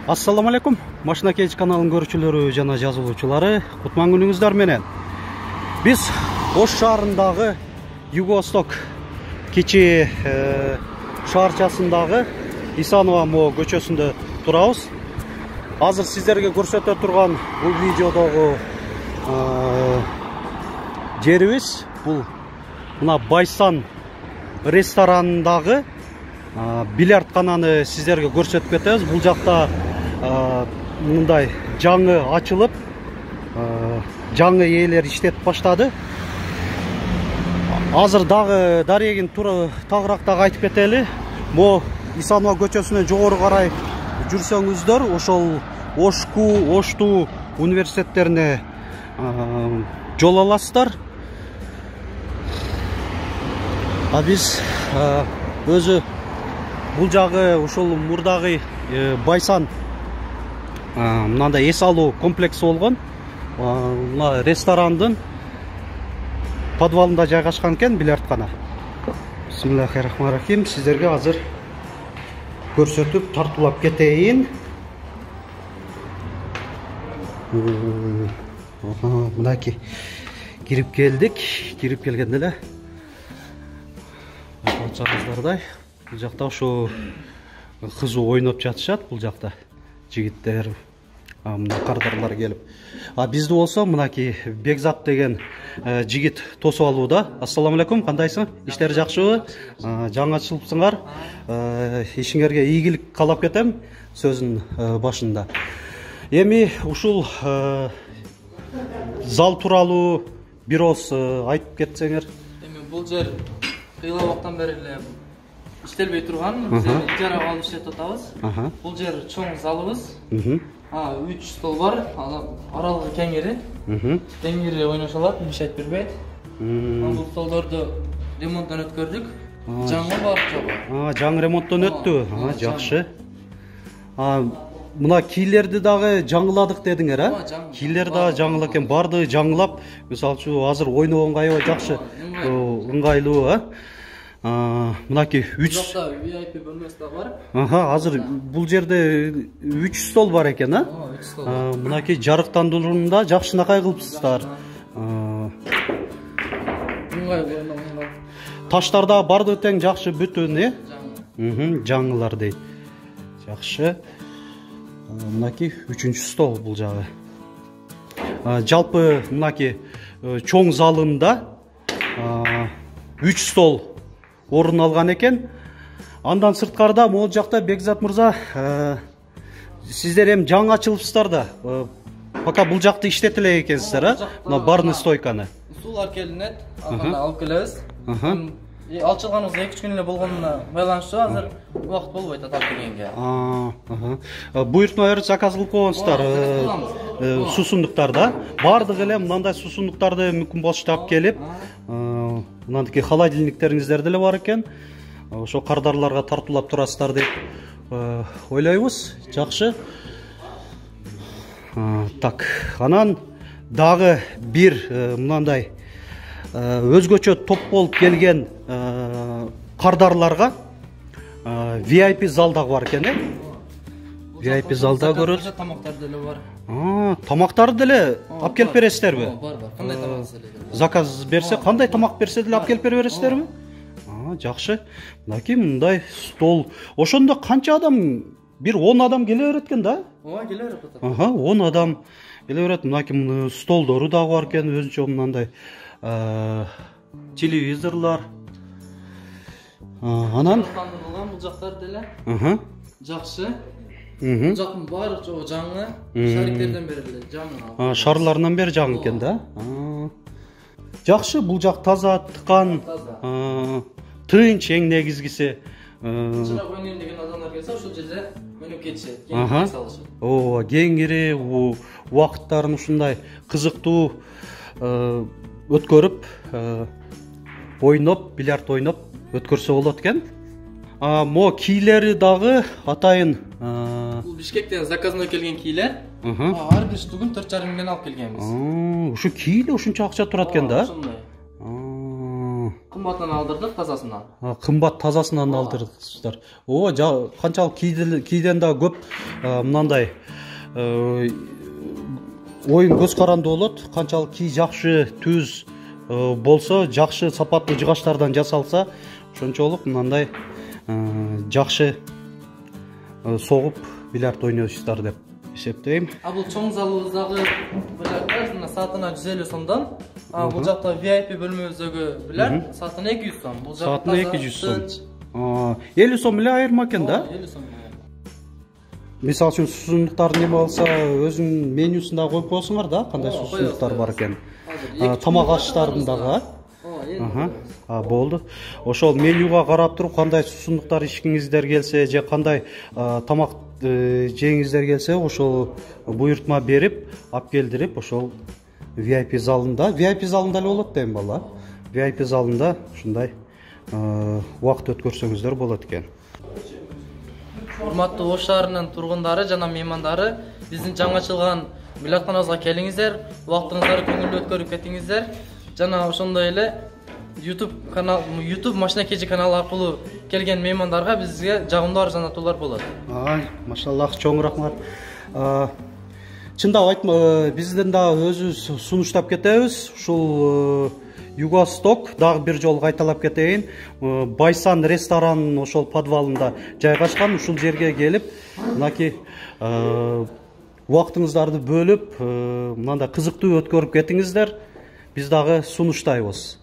Assalamu alaikum. Машина Кейч каналынын көрүүчүлөрү жана жазылуучулары, кутман күнүңүздөр менен. Биз Ош шаарындагы Юго-Восток кичи шаарчасындагы Исанова Мо көчөсүндө турабыз. Азыр сиздерге көрсөтө турган бул видеодогу жерибиз бул мына Байсан ресторанындагы бильярдкананы сиздерге көрсөтүп кетебиз. Бул жакта мындай жаңы ачылып, жаңы ээлер иштетип баштады. Азыр дагы дарегин тагыраак дагы айтып кетели. Мо Исанова көчөсүнөн жогору карай жүрсөңүздөр, ошол Ошту университеттерине жол аласыздар. Биз өзү бул жагы ошол мурдагы Байсан мындай эс алуу комплекси болгон. Мына ресторандын подвалында жайгашкан экен бильярдкана. Бисмиллахиррахманиррахим. Сиздерге азыр көрсөтүп тартуулап кетейин. Мынакей кирип келдик. Кирип келгенде эле айтчаңыздардай бул жакта ошо кызуу ойноп жатышат. Бул жакта жигиттер, мына кардарлар келип. Бизди болсо мынакей Бекзат деген жигит тосуп алууда. Ассаламу алейкум, кандайсың? Иштер жакшыбы? Жаңы ачылыпсыңар. Ишиңерге ийгилик каалап кетем сөзүнүн башында. Эми ушул зал тууралуу бир ооз айтып кетсеңер. Эми бул жер кыйла убактан бери эле иштелбей турган, биз ижарага алып иштеп атабыз. Бул жер чоң залыбыз. 3 стол бар, аралыгы кеңири. Теңири ойноша алат, мешайт бербейт. Бул столдорду ремонттон өткөрдүк. Жаңы бар жобо. Жаңы ремонттон өттү. Жакшы. Мына кийлерди дагы жаңыладык дедиңер, Кийлер дагы жаңылы экен, барды жаңылап, мисалы үчүн азыр ойногонго аябай жакшы, ыңгайлуу, Мынакей 3 VIP бөлмөсү да бар. Азыр бул жерде 3 стол бар экен, 3 стол. Мынакей жарыктандырууда жакшынакай кылыпсыздар. Таштар да барды тең жакшы бүтүн, жаңылар дейт. Жакшы. Мынакей 3-чү стол бул жагы. Жалпы мынакей чоң залында 3 стол орун алган экен. Андан сырткарда могул жакта Бекзат мырза, сиздер эми жаңы ачылыпсыздар да. Пока бул жакты иштете элек экенсиздер, мына барный стойканы. Суулар келинет, аны алып келебиз. Алчылганыбыз 2-3 күн эле болгонуна байланыштуу, азыр убакыт болбойт атап келгенге. Буйртма берип заказ кылып койгонсуздар, суусундуктарда. Бардыгы эле мындай суусундуктарды мүмкүн болуштап келип, мынандыки холодильниктериңиздер деле бар экен. Ошо кардарларга тартуулап турасыздар деп ойлойбуз. Жакшы. Так, анан дагы бир мындай өзгөчө топ болуп келген кардарларга VIP зал дагы бар экен, VIP залда көрөсүз. Тамактар деле бар. Тамактарды деле алып келип бересиздерби? Бар. Кандай тамак деле. Заказ берсе, кандай тамак берсе деле алып келип бересиздерби? Жакшы. Мынакей мындай стол. Ошондо канча адам? Бир 10 адам келе берет экен да? Келе берет атат. 10 адам келе берет. Мынакей столдору дагы бар экен, өзүнчө мындай телевизорлар. Анан бул жактар деле жакшы. Бул жактын баары жаңы, шариктерден бери эле жаңы. Шарларынан бери жаңы экен да. Жакшы, бул жак таза, тыкан, тынч эң негизгиси. Чырак ойнойм деген адамдар келсе, ошол жерде өнүп кетишет, кеңири салышат. Кеңири убакыттарын ушундай кызыктуу өткөрүп, ойноп, бильярд ойноп өткөрсө болот экен. Мо кийлери дагы атайын. Бул Бишкектен заказной келген кийлер. Ар бир штугун 4,5 миңден алып келгенбиз. Ушу кийле ушунча акча турат экен да. Ошондой. кымбатынан алдырдык, тазасынан. Кымбат тазасынан алдырдыңыздар. Канчалык кийден да көп мындай оюн көз карандуу болот. Канчалык кий жакшы түз болсо, жакшы сапаттуу жыгачтардан жасалса, ошончолук мындай жакшы согуп бильярд ойнойсуздар деп эсептейм. Бул чоң залыбыздагы бильярд саатына 150 сомдон. Бул жакта VIP бөлмөбүздөгү бильярд саатына 200 сом. Бул жакта саатына 200 сом. 50 сом эле айырма экен да? 50 сом. Мисалы үчүн суусундуктарды неме алса, өзүнүн менюсунда коюп коесуңар да, кандай суусундуктар бар экен. Тамак ашыштарын дагы. Болду. Ошол менюга карап туруп кандай суусундуктар ичкиңиздер келсе, же кандай тамак жеңиңиздер келсе, ошол буйртма берип, алып келдирип, ошол VIP залында эле болот дейм бала. VIP залында ушундай убакыт өткөрсөңүздөр болот экен. Урматтуу Ош шаарынын тургундары жана меймандары, биздин жаңы ачылган бильярдканабызга келиңиздер, убактыңыздарды көңүлдүү өткөрүп кетиңиздер. Жана ошондой эле YouTube Машина KG каналы аркылуу келген меймандарга бизге жагымдуу арзандатуулар болот. Машаллах, чоң рахмат. Чындап айтма, бизден дагы өзүбүз сунуштап кетебиз. Ушул Юго-Восток дагы бир жолу кайталап кетейин. Байсан ресторанынын ошол подвалында жайгашкан. Ушул жерге келип, мынакей убактыңыздарды бөлүп, мындай кызыктуу өткөрүп кетиңиздер. Биз дагы сунуштайбыз.